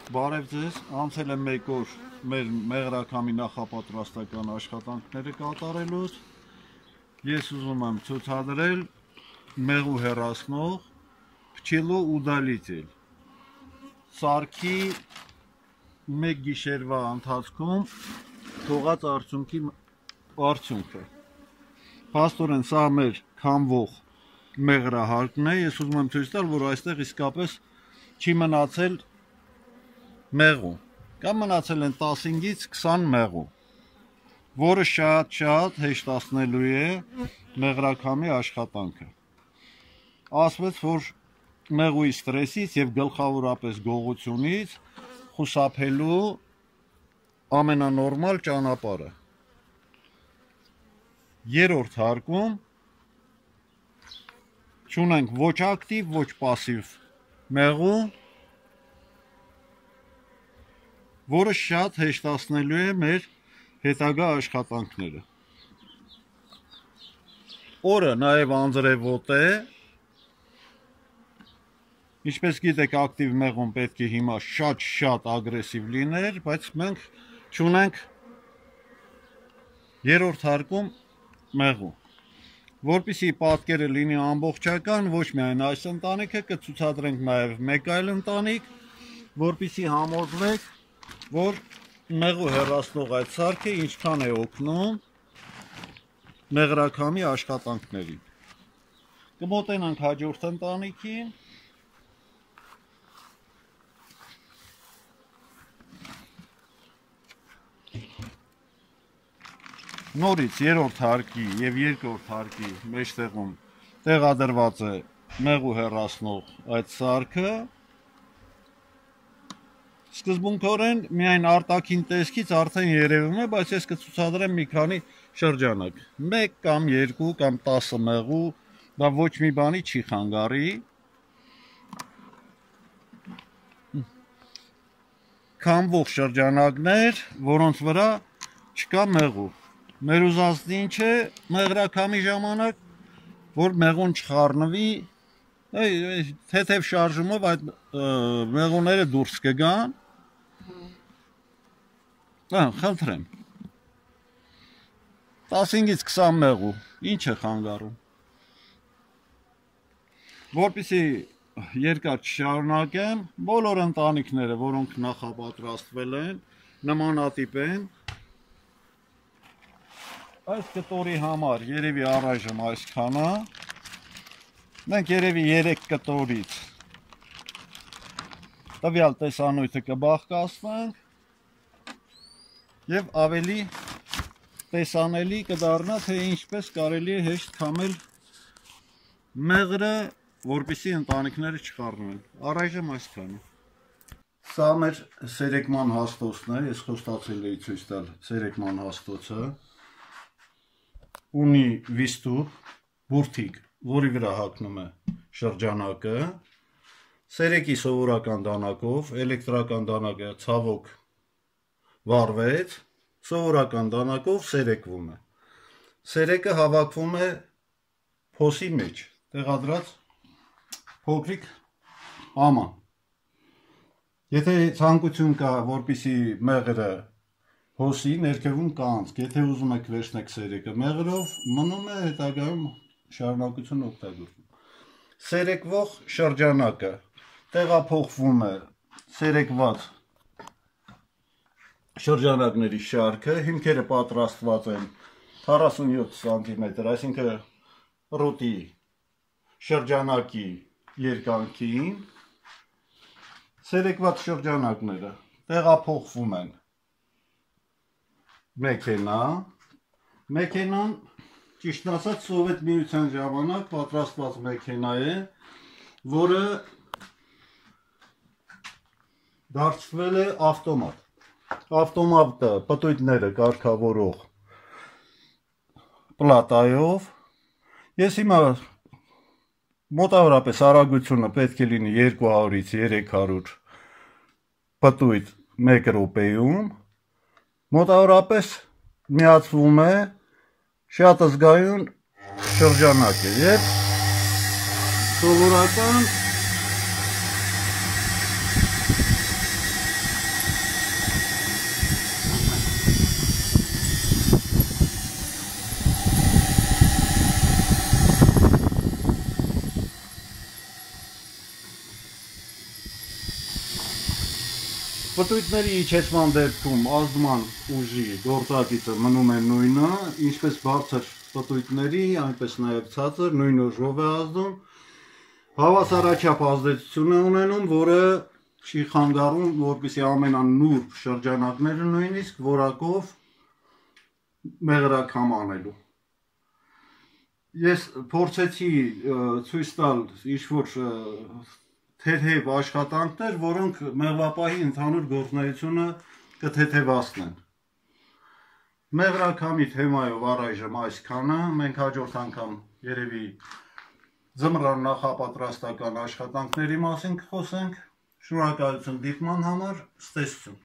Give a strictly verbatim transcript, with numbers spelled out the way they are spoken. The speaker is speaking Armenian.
Բարև ձեզ, անցել եմ մեկ օր մեր մեղրաքամի նախապատրաստական աշխատանքները կատարելուց։ Ես ուզում եմ ցուցադրել մեղու հեռացնող փչիլու ուդալитель սարքի մեկ գիշերվա ընթացքում թողած արդյունքի արդյունքը։ Փաստորեն սա մեր քամվող մեղրահարկն է, ես ուզում եմ ցույց տալ, որ այստեղ իսկապես չի մնացել մեղու, կամ մնացել են տասնից քսան մեղու, որը շատ-շատ հեշտացնելու է մեղրաքամի աշխատանքը։ Ասվեց, որ մեղուի ստրեսից և գլխավորապես գողությունից խուսափելու ամենանորմալ ճանապարհը։ Երրորդ հարկում չունենք ոչ ակտիվ, ոչ պասիվ մեղու, որը շատ հեշտացնելու է մեր հետագա աշխատանքները։ Օրը նաև անձրևոտ է, ինչպես գիտեք, ակտիվ մեղուն պետք է հիմա շատ-շատ ագրեսիվ լիներ, բայց մենք չունենք երրորդ հարկում մեղու։ Որպեսզի պատկերը լինի ամբողջական, ոչ միայն այս ընտանիքը, կցուցադրենք նաև մեկ այլ ընտանիք, որպեսզի համոզվեք, որ մեղու հեռացնող այդ սարքը ինչքան է օգնում մեղրաքամի աշխատանքներին։ Կմոտենանք հաջորդ ընտանիքին։ Նորից երրորդ հարկի և երկրորդ հարկի մեջտեղում տեղադրված է մեղու հեռացնող այդ սարքը։ Սկզբունքորեն միայն արտաքին տեսքից արդեն երևում է, բայց ես կցուցադրեմ մի քանի շրջանակ։ Մեկ կամ երկու կամ տասը մեղու, դա ոչ մի բանի չի խանգարի։ Քամվող շրջանակներ, որոնց վրա չկա մեղու։ Մեր ուզածն ինչ է մեղրաքամի ժամանակ, որ մեղուն չխառնվի, թեթև շարժումով այդ մեղուները դուրս կգան։ Խնդրեմ, տասնից քսան մեղու, ինչ է խանգարում։ Որպեսզի երկար չշարունակեմ, բոլոր ընտանիքները, որոնք նախապատրաստվել են, նմանատիպ են։ Այս կտորի համար երևի առայժմ այսքանը, մենք երևի երեք կտորից տվյալ տեսանյութը կբաղկացնենք և ավելի տեսանելի կդառնա, թե ինչպես կարելի է հեշտ քամել մեղրը, որպեսզի ընտանիքները չխառնվեն։ Առայժմ այսքանը։ Սա մեր սերեկման հաստոցն է, ես խոստացել էի ցույց տալ սերեկման հաստոցը։ Ունի վիստուր, բուրդիկ, որի վրա հագնում է շրջանակը, սերեկի սովորական դանակով, էլեկտրական դանակը ցավոք վառվեց, սովորական դանակով սերեկվում է։ Սերեկը հավաքվում է փոսի մեջ, տեղադրած փոքրիկ աման։ Եթե ցանկություն կա, որպեսզի մեղրը հոսի, ներքևում կա անցք, եթե ուզում եք վերցնեք սերեկը մեղրով, մնում է հետագայում շարունակություն օգտագործում։ Սերեկվող շրջանակը տեղափոխվում է սերեկված շրջանակների շարքը, հիմքերը պատրաստված են քառասունյոթ սանտիմետր, այսինքն ռուտի շրջանակի երկայնքին, սերեկված շրջանակները տեղափոխվում են մեքենա, մեքենան, ճիշտ ասած, Սովետ միության ժամանակ պատրաստված մեքենա է, որը դարձվել է ավտոմատ։ Ավտոմատը պտույտները կարգավորող պլատայով։ Ես հիմա մոտավորապես արագությունը պետք է լինի երկու հարյուրից երեք հարյուր պտույտ մեկ րոպեում, մոտավորապես միացվում է շատ զգայուն շրջանակ է և սովորական Պտույտների իջեցման դեպքում ազդման ուժի գործակիցը մնում է նույնը, ինչպես բարձր պտույտների, այնպես նաև ցածր նույն ուժով է ազդում, հավասարաչափ ազդեցություն է ունենում, որը չի խանգարում, որպեսզի ամենանուրբ շրջանակները նույնիսկ որակով մեղրաքամ անելու։ Ես փորձեցի ցույց տալ ինչ-որ թեթև աշխատանքներ, որոնք մեղվապահի ընդհանուր գործունեությունը կթեթևացնեն։ Մեղրաքամի թեմայով առայժմ այսքանը, մենք հաջորդ անգամ երևի ձմռան նախապատրաստական աշխատանքների մասին կխոսենք։ Շնորհակալություն դիտման համար, ցտեսություն։